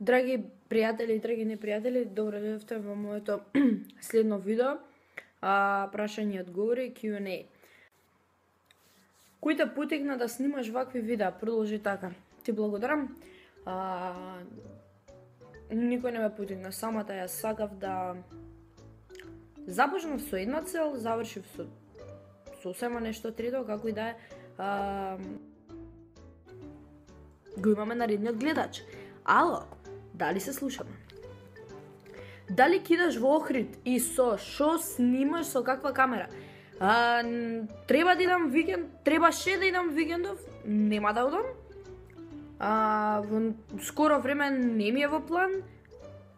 Драги пријатели и драги непријатели, добро дојдовте во моето следно видео, прашање и одговори, Q&A. Кој те потикна да снимаш вакви видеа? Продолжи така. Ти благодарам. Никој не ме потикна, самата ја сакав да започнав со една цел, завршив со сосема нешто трето, како и да е. Го имаме наредниот гледач. Ало, дали се слушаме? Дали кидаш во Охрид и со шо снимаш, со каква камера? Треба да идам викенд, требаше да идам викендов, нема да одам. Во скоро време не ми е во план,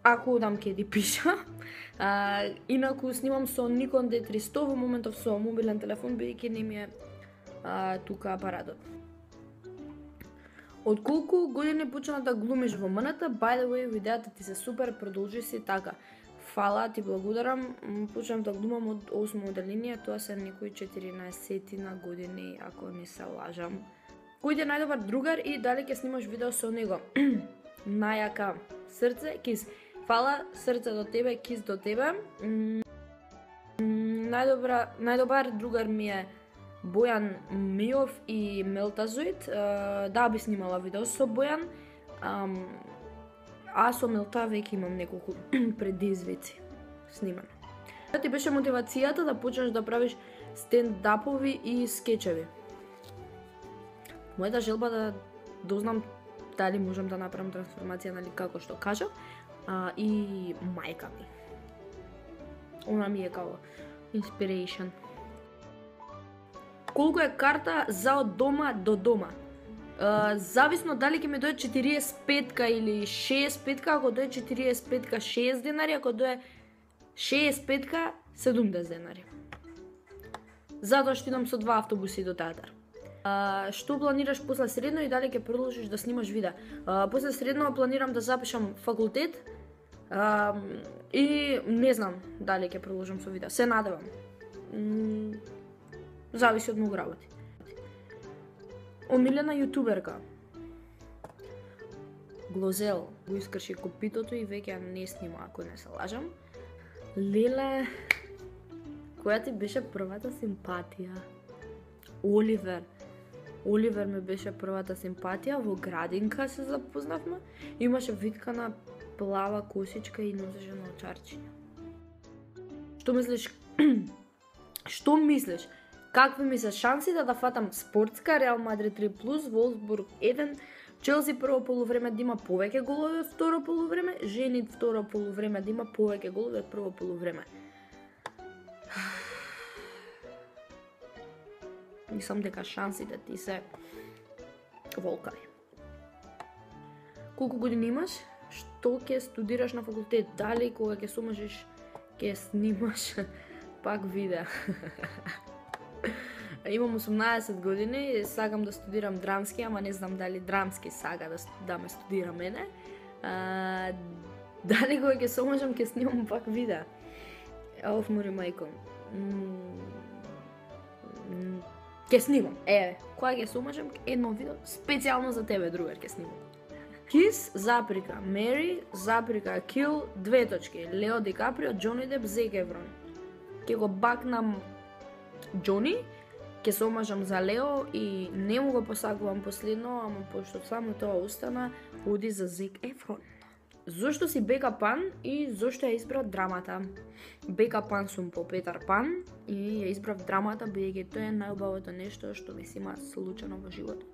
ако одам ке ти пиша. Инаку снимам со Nikon D300 во моментов со мобилен телефон, бидејќи не ми е тука апаратот. Од колку години почна да глумиш во МНТ? By the way, видеата ти се супер, продолжи си така. Фала, ти благодарам. Почнав да глумам од 8 оделение, тоа се некои 14 на години, ако не се лажам. Кој е најдобар другар и дали ќе снимаш видео со него? Најака срце, кис. Фала, срце до тебе, кис до тебе. Најдобар другар ми е Бојан Миов и Мелтазоид. Да, би снимала видео со Бојан. А со Мелта веќе имам неколку предизвици снимано. Што ти беше мотивацијата да почнеш да правиш стендапови и скечеви? Мојата желба да дознам дали можам да направам трансформација, нали, како што кажав, и мајка ми. Она ми е као inspiration. Колку е карта за од дома до дома? Зависно дали ќе ми дое 45 или 65, ако дое 45 6 денари, ако дое 65 70 денари. Затоа што идам со 2 автобуси до театар. Што планираш после средно и дали ќе продолжиш да снимаш видеа? После средно планирам да запишам факултет и не знам дали ќе продолжам со видеа. Се надевам. Зависи од многу работи. Омилена јутуберка. Глозел го искрши копитото и веќе не снима, ако не се лажам. Леле, која ти беше првата симпатија? Оливер ми беше првата симпатија, во градинка се запознавме. Имаше виткана плава косичка и носеше на очарчиња. Што мислиш? Какви ми се шансите да фатам спортска, Реал Мадрид 3+, Волсбург 1, Челси прво полувреме да има повеќе голови од второ полувреме, Женит второ полувреме да има повеќе голови од прво полувреме. Мислам дека шансите ти се волкави. Колку години имаш? Што ќе студираш на факултет? Дали кога ќе се омажиш ќе снимаш пак видеа? Имам 18 години, сакам да студирам драмски, ама не знам дали драмски сака да ме студира мене. Дали кога ќе се омажам ќе снимам пак видеа? Оф, мори мајко. Ќе снимам. Кога ќе се омажам, едно видео специјално за тебе, другар, ќе снимам. Кис, заприка, Мери, заприка, Кил, 2 точки, Лео Ди Каприо, Џони Деп, Зек Ефрон. Ќе го бакнам Џони, ќе се омажам за Лео и не му го посакувам последно, ама пошто само тоа остана, оди за Зек Ефрон. Зошто си Бека Пан и зошто ја избрав драмата? Бека Пан сум по Петар Пан и ја избрав драмата, бидејќи тоа е најубавото нешто што ми се има случано во животот.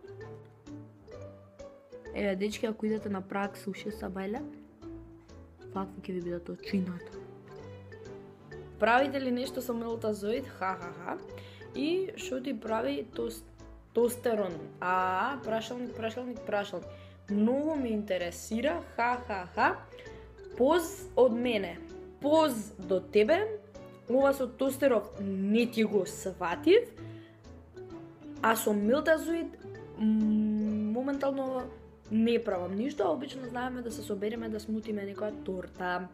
Дечки, ако идете на Праг, суши са бајле, вакви ќе ви бидат очината. Правите ли нешто со Мелтазоид? Ха-ха-ха. И што ти прави тостостерон? Прашалник. Многу ме интересира, ха-ха-ха. Поз од мене, поз до тебе. Ова со тостеров не ти го сватив, а со Мелтазоид моментално не правам ништо, а обично знаеме да се собереме да смутиме некоја торта.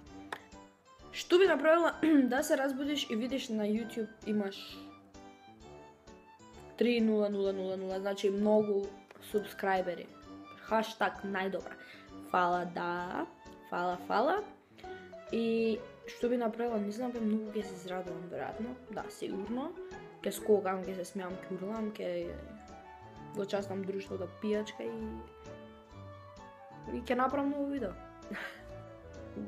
Што би направила да се разбудиш и видиш на YouTube имаш 3000, значи многу субскрајбери. Хаштаг најдобра. фала, да. Фала. И што би направила, не знам, многу ќе се израдувам, веројатно. Да, сигурно. Ќе скокам, ќе се смеам, ќе урлам, ќе го частам друштвото пијачка и ќе направам ново видео.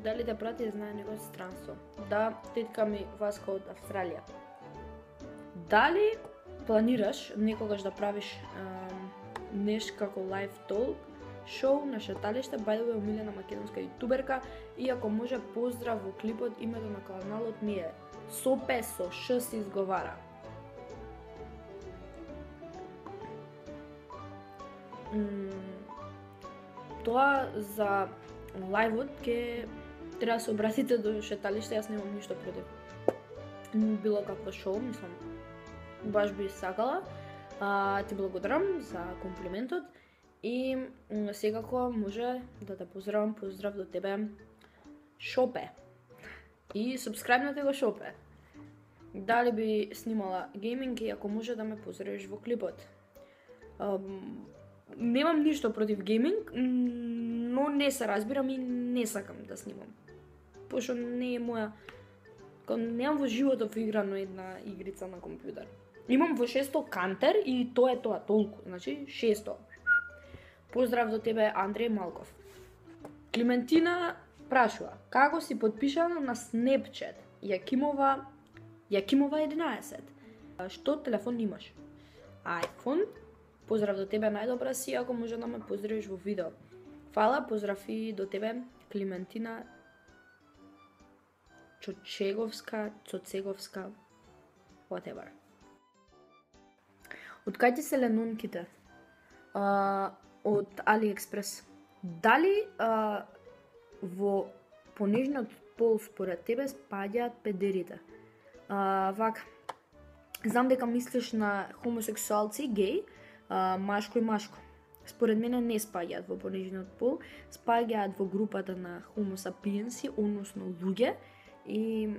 Дали те прати, знае неговото странство. Да, тетка ми Васка од Австралија. Дали планираш некогаш да правиш нешто како live talk шоу на шеталиште, by the way, омилена македонска јутуберка, и ако може поздрав во клипот, името на каналот ми е Сопе со Ш се изговара. Тоа за лајвот ќе треба да се обратите до шеталиште, јас немам ништо против било какво шоу, мислам, баш би сакала. Ти благодарам за комплиментот и секако може да те поздравам, поздрав до тебе, Шопе. И сабскрајбнете го Шопе. Дали би снимала гейминг и ако може да ме поздравиш во клипот. Немам ништо против гейминг, но не се разбирам и не сакам да снимам. Пошто не е моја... Немам во животот играно една игрица на компјутер. Имам во 600 Кантер и тоа е тоа, толку. Значи, 600. Поздрав до тебе, Андреј Малков. Климентина прашува, како си подпишана на Snapchat? Јакимова 11. Што телефон имаш? iPhone. Поздрав до тебе, најдобра си, ако може да ме поздравиш во видео. Фала, поздрав и до тебе, Климентина Цоцеговска, whatever. Од кај ти се ленунките? Од AliExpress. Дали во понижниот пол според тебе спаѓаат педерите? Вака, знам дека мислиш на хомосексуалци, геј, машко и машко. Според мене не спаѓаат во понижниот пол, спаѓаат во групата на Homo sapiensi, односно луѓе, и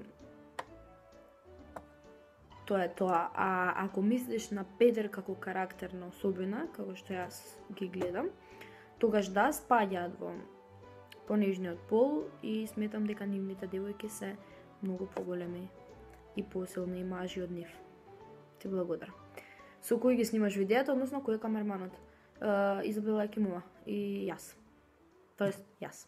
тоа е тоа. А ако мислиш на педер како карактерна особина, како што јас ги гледам, тогаш да, спаѓаат во понижниот пол и сметам дека нивните девојки се многу поголеми и посилни мажи од нив. Ти благодарам. Со кој ги снимаш видеото, односно кој е камерманот? Изабела Јакимова и јас. Тоест, јас.